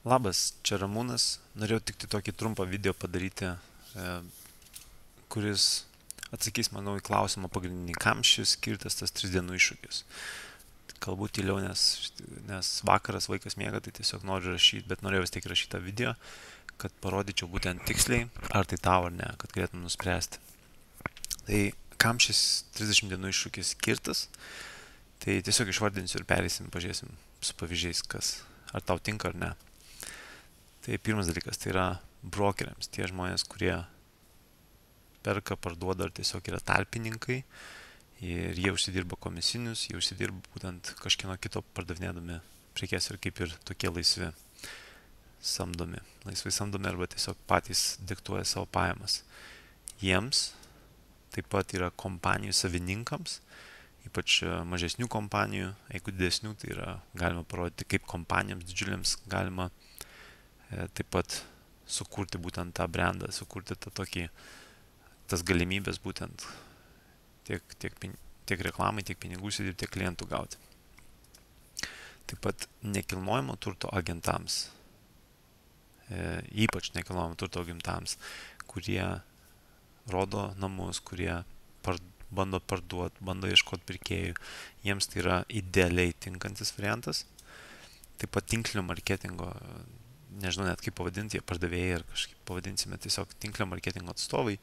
Labas, čia Ramūnas. Norėjau tik tai tokį trumpą video padaryti, kuris atsakys, manau, į klausimą pagrindinį, kam šis skirtas tas 3 dienų iššūkis. Kalbu tyliau, nes vakaras vaikas miega, tai tiesiog noriu rašyti, bet norėjau vis tiek rašyti tą video, kad parodyčiau būtent tiksliai, ar tai tau ar ne, kad galėtum nuspręsti. Tai kam šis 30 dienų iššūkis skirtas, tai tiesiog išvardinsiu ir perėsim, pažiūrėsim su pavyzdžiais, ar tau tinka ar ne. Tai pirmas dalykas, tai yra brokeriams, tie žmonės, kurie perka, parduoda ar tiesiog yra tarpininkai ir jie užsidirba komisinius, jie užsidirba būtent kažkieno kito pardavinėdami prekes ir kaip ir tokie laisvai samdomi arba tiesiog patys diktuoja savo pajamas. Jiems taip pat yra kompanijų savininkams, ypač mažesnių kompanijų, jeigu didesnių, tai yra galima parodyti, kaip kompanijoms didžiuliams galima taip pat sukurti būtent tą brandą, sukurti tas galimybės būtent tiek reklamai, tiek pinigų užsidirbti, tiek klientų gauti. Taip pat nekilnojamo turto agentams, ypač nekilnojamo turto agentams, kurie rodo namus, kurie bando parduoti, bando ieškoti pirkėjų, jiems tai yra idealiai tinkantis variantas. Taip pat tinklinio marketingo, nežinau net kaip pavadinti, jie pardavėjai ar kažkaip pavadinsime tiesiog tinklinio marketingo atstovai,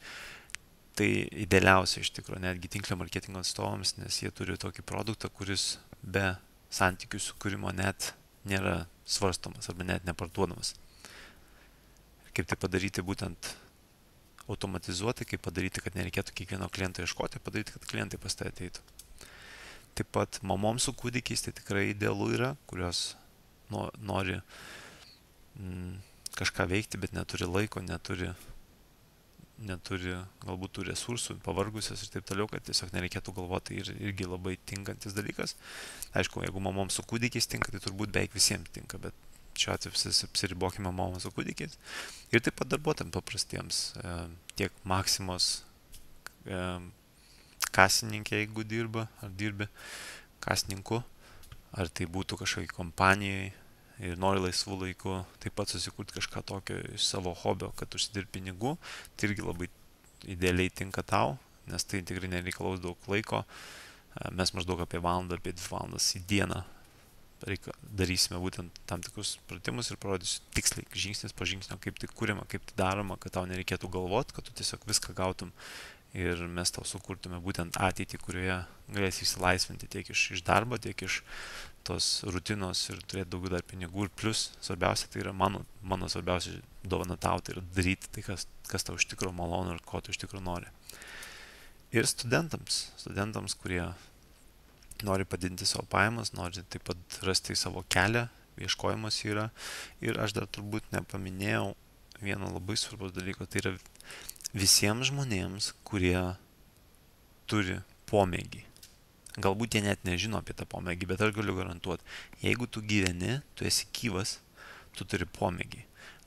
tai idealiausia iš tikrųjų netgi tinklinio marketingo atstovams, nes jie turi tokį produktą, kuris be santykių sukūrimo net nėra svarstomas arba net neparduodamas. Kaip tai padaryti būtent automatizuoti, kaip padaryti, kad nereikėtų kiekvieno kliento ieškoti, padaryti, kad klientai pas tai ateitų. Taip pat mamoms su kūdikiais tai tikrai idealu yra, kurios nori kažką veikti, bet neturi laiko, neturi galbūt tų resursų, pavargusios ir taip toliau, kad tiesiog nereikėtų galvoti, tai irgi labai tinkantis dalykas. Aišku, jeigu mamoms su kūdikiais tinka, tai turbūt beveik visiems tinka, bet šiuo atveju apsiribokime mamoms su kūdikiais. Ir taip pat darbuotojams paprastiems, tiek Maksimos kasininkė, jeigu dirbi kasininku, ar tai būtų kažkokiai kompanijai ir nori laisvų laikų taip pat susikurti kažką tokio iš savo hobio, kad užsidirbi pinigų, tai irgi labai idealiai tinka tau, nes tai tikrai nereikalaus daug laiko. Mes maždaug apie valandą, apie 2 valandas į dieną darysime būtent tam tikrus pratimus ir parodysiu tiksliai, žingsnis po žingsnio, kaip tai kuriama, kaip tai daroma, kad tau nereikėtų galvoti, kad tu tiesiog viską gautum ir mes tau sukurtume būtent ateitį, kurioje galėsi išsilaisvinti tiek iš darbo, tiek iš tos rutinos ir turėti daugiau dar pinigų. Ir plus, svarbiausia, tai yra mano svarbiausia dovana tau, tai yra daryti tai, kas tau iš tikrųjų malonu ir ko tu iš tikrųjų nori. Ir studentams, kurie nori padidinti savo pajamas, nori taip pat rasti savo kelią, ieškojimas yra. Ir aš dar turbūt nepaminėjau vieno labai svarbus dalyko, tai yra visiems žmonėms, kurie turi pomėgį. Galbūt jie net nežino apie tą pomėgį, bet aš galiu garantuoti, jeigu tu gyveni, tu esi gyvas, tu turi pomėgį.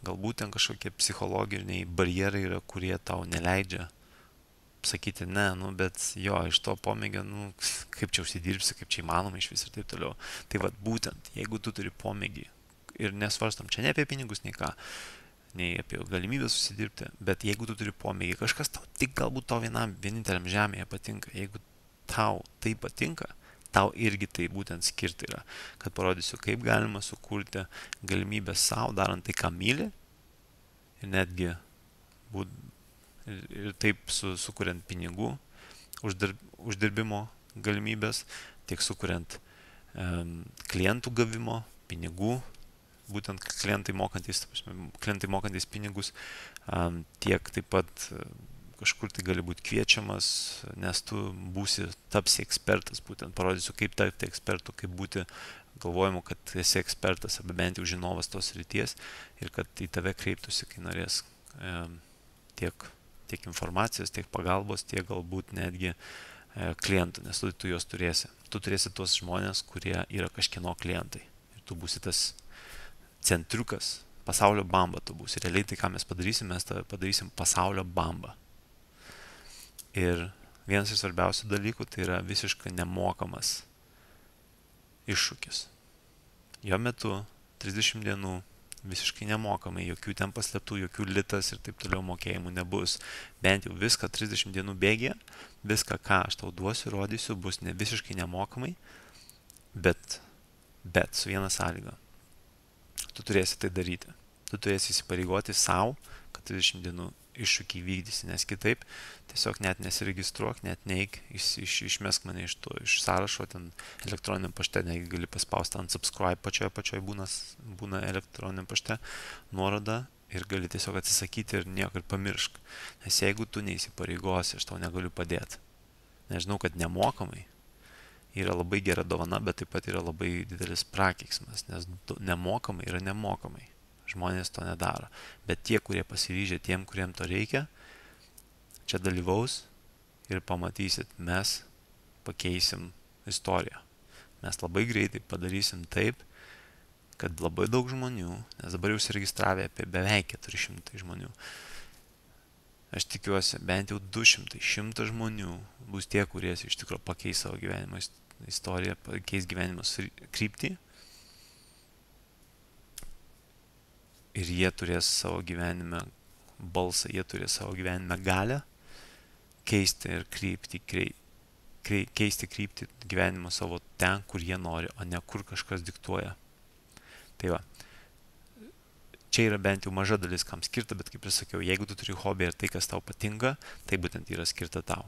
Galbūt ten kažkokie psichologiniai barjerai yra, kurie tau neleidžia sakyti ne, bet jo, iš to pomėgio, kaip čia užsidirbsi, kaip čia įmanoma iš vis ir taip toliau. Tai vat būtent, jeigu tu turi pomėgį ir nesvarstam čia ne apie pinigus, nei apie galimybę susidirbti, bet jeigu tu turi pomėgį, kažkas tau tik galbūt tau vieninteliam žemėje patinka, jeigu tau tai patinka, tau irgi tai būtent skirti yra, kad parodysiu, kaip galima sukurti galimybę savo, darant tai, ką myli ir netgi ir taip sukuriant pinigų, uždirbimo galimybės, tiek sukuriant klientų gavimo, pinigų, būtent klientai mokantis pinigus, tiek taip pat kažkur tai gali būti kviečiamas, nes tu tapsi ekspertas, būtent parodysiu, kaip tapti ekspertu, kaip būti galvojimu, kad esi ekspertas arba bent jau žinovas tos srities ir kad į tave kreiptųsi, kai norės tiek informacijos, tiek pagalbos, tiek galbūt netgi klientų, nes tu juos turėsi. Tu turėsi tuos žmonės, kurie yra kažkieno klientai. Ir tu būsi tas centriukas, pasaulio bamba tu būsi. Realiai tai, ką mes padarysim pasaulio bamba. Ir vienas iš svarbiausių dalykų tai yra visiškai nemokamas iššūkis. Jo metu 30 dienų visiškai nemokamai, jokių ten paslėptų, jokių litas ir taip toliau mokėjimų nebus. Bent jau viską 30 dienų bėgė, viską, ką aš tau duosiu, rodysiu, bus ne visiškai nemokamai, bet su viena sąlyga. Tu turėsi tai daryti. Tu turėsi įsipareigoti savo, kad 30 dienų iššūkį vykdysi, nes kitaip tiesiog net nesiregistruok, net neik, išmesk mane iš sąrašo, ten elektroniniam pašte, negi gali paspausti ant subscribe pačioj būna elektroniniam pašte nuoroda ir gali tiesiog atsisakyti ir nieko ir pamiršk. Nes jeigu tu neįsipareigosi, aš tau negaliu padėti. Nežinau, kad nemokamai yra labai gera dovana, bet taip pat yra labai didelis prakeiksmas, nes nemokamai yra nemokamai. Žmonės to nedaro. Bet tie, kurie pasiryžę, tiem, kuriem to reikia, čia dalyvaus ir pamatysit, mes pakeisim istoriją. Mes labai greitai padarysim taip, kad labai daug žmonių, nes dabar jau užsiregistravę apie beveik 400 žmonių, aš tikiuosi, bent jau 200, 100 žmonių bus tie, kurie iš tikrųjų pakeis savo gyvenimo istoriją, pakeis gyvenimo kryptį. Ir jie turės savo gyvenime balsą, jie turės savo gyvenime galę keisti ir keisti kryptį gyvenimo savo ten, kur jie nori, o ne kur kažkas diktuoja. Tai va, čia yra bent jau maža dalis, kam skirta, bet kaip ir sakiau, jeigu tu turi hobį ir tai, kas tau patinka, tai būtent yra skirta tau.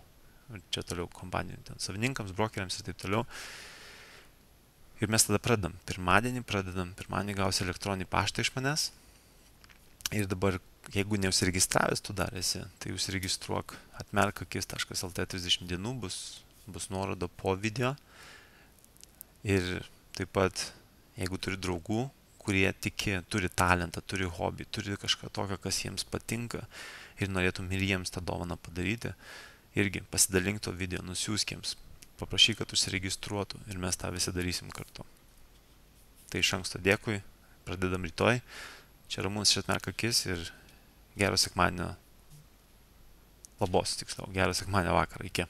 Ir čia toliau kompanijų, savininkams, brokeriams ir taip toliau. Ir mes tada pradedam. Pirmadienį gausi elektroninį paštą iš manęs. Ir dabar, jeigu neusiregistravęs tu dar esi, tai užsiregistruok atmerkakis.lt 30 dienų, bus nuoroda po video. Ir taip pat, jeigu turi draugų, kurie turi talentą, turi hobį, turi kažką tokio, kas jiems patinka ir norėtum ir jiems tą dovaną padaryti, irgi pasidalink to video, nusiųsk jiems, paprašyk, kad užsiregistruotų ir mes tą visi darysim kartu. Tai iš anksto dėkui, pradedam rytoj. Čia Ramūnas iš Atmerkakis ir gero sekmadienio, labos tiksliau, gero sekmadienio vakarą, iki.